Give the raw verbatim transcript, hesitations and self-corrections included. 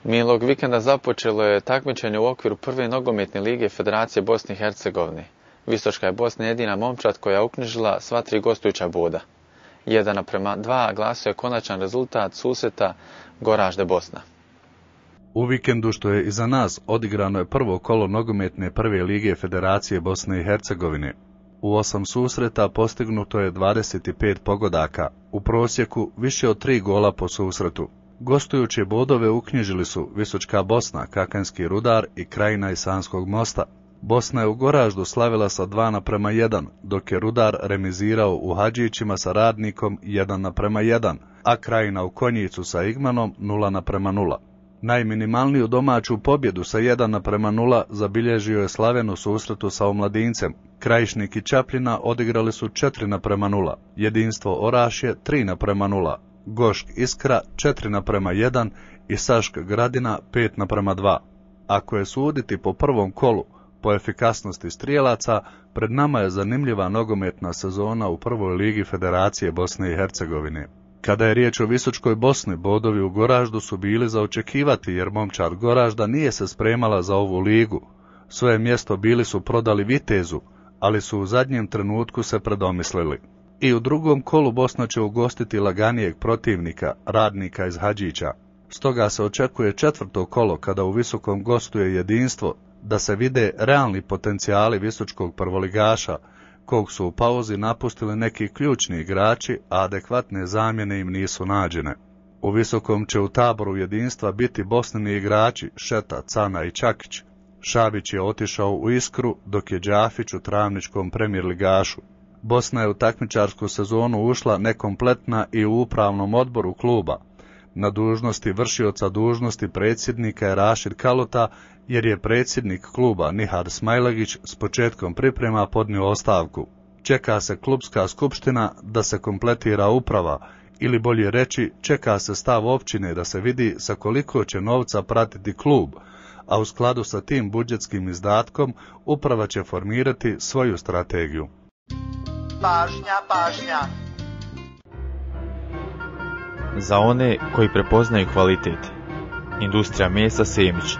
Minulog vikenda započelo je takmičenje u okviru prve nogometne lige Federacije Bosne i Hercegovine. Visočka je Bosna jedina momčad koja je uknjižila sva tri gostujuća boda. jedan naprema dva glasio je konačan rezultat susreta Goražde Bosna. U vikendu što je iza nas odigrano je prvo kolo nogometne prve lige Federacije Bosne i Hercegovine. U osam susreta postignuto je dvadeset pet pogodaka, u prosjeku više od tri gola po susretu. Gostujuće bodove uknjižili su Visočka Bosna, Kakanski Rudar i Krajina iz Sanskog Mosta. Bosna je u Goraždu slavila sa dva naprema jedan, dok je Rudar remizirao u Hadžićima sa Radnikom jedan naprema jedan, a Krajina u Konjicu sa Igmanom nula naprema nula. Najminimalniju domaću pobjedu sa jedan naprema nula zabilježio je Slaven u susretu sa Omladincem. Krajišnik i Čapljina odigrali su četiri naprema nula, Jedinstvo Orašje tri naprema nula, Gošk Iskra četiri naprema jedan i Sašk Gradina pet naprema dva. Ako je suditi po prvom kolu, po efikasnosti strijelaca, pred nama je zanimljiva nogometna sezona u prvoj ligi Federacije Bosne i Hercegovine. Kada je riječ o Visočkoj Bosni, bodovi u Goraždu su bili za očekivati jer momčad Goražda nije se spremala za ovu ligu. Svoje mjesto bili su prodali Vitezu, ali su u zadnjem trenutku se predomislili. I u drugom kolu Bosna će ugostiti laganijeg protivnika, Radnika iz Hadžića. Stoga se očekuje četvrto kolo kada u Visokom gostuje Jedinstvo, da se vide realni potencijali visočkog prvoligaša, kog su u pauzi napustili neki ključni igrači, a adekvatne zamjene im nisu nađene. U Visokom će u taboru Jedinstva biti Bosnini igrači Šeta, Cana i Čakić. Šabić je otišao u Iskru, dok je Đafić u travničkom premijer ligašu. Bosna je u takmičarsku sezonu ušla nekompletna i u upravnom odboru kluba. Na dužnosti vršioca dužnosti predsjednika je Rašid Kalota, jer je predsjednik kluba Nihad Smajlagić s početkom priprema podnio ostavku. Čeka se klubska skupština da se kompletira uprava, ili bolje reći, čeka se stav općine da se vidi sa koliko će novca pratiti klub, a u skladu sa tim budžetskim izdatkom uprava će formirati svoju strategiju. Pažnja, pažnja! Za one koji prepoznaju kvalitet. Industrija mesa Semić.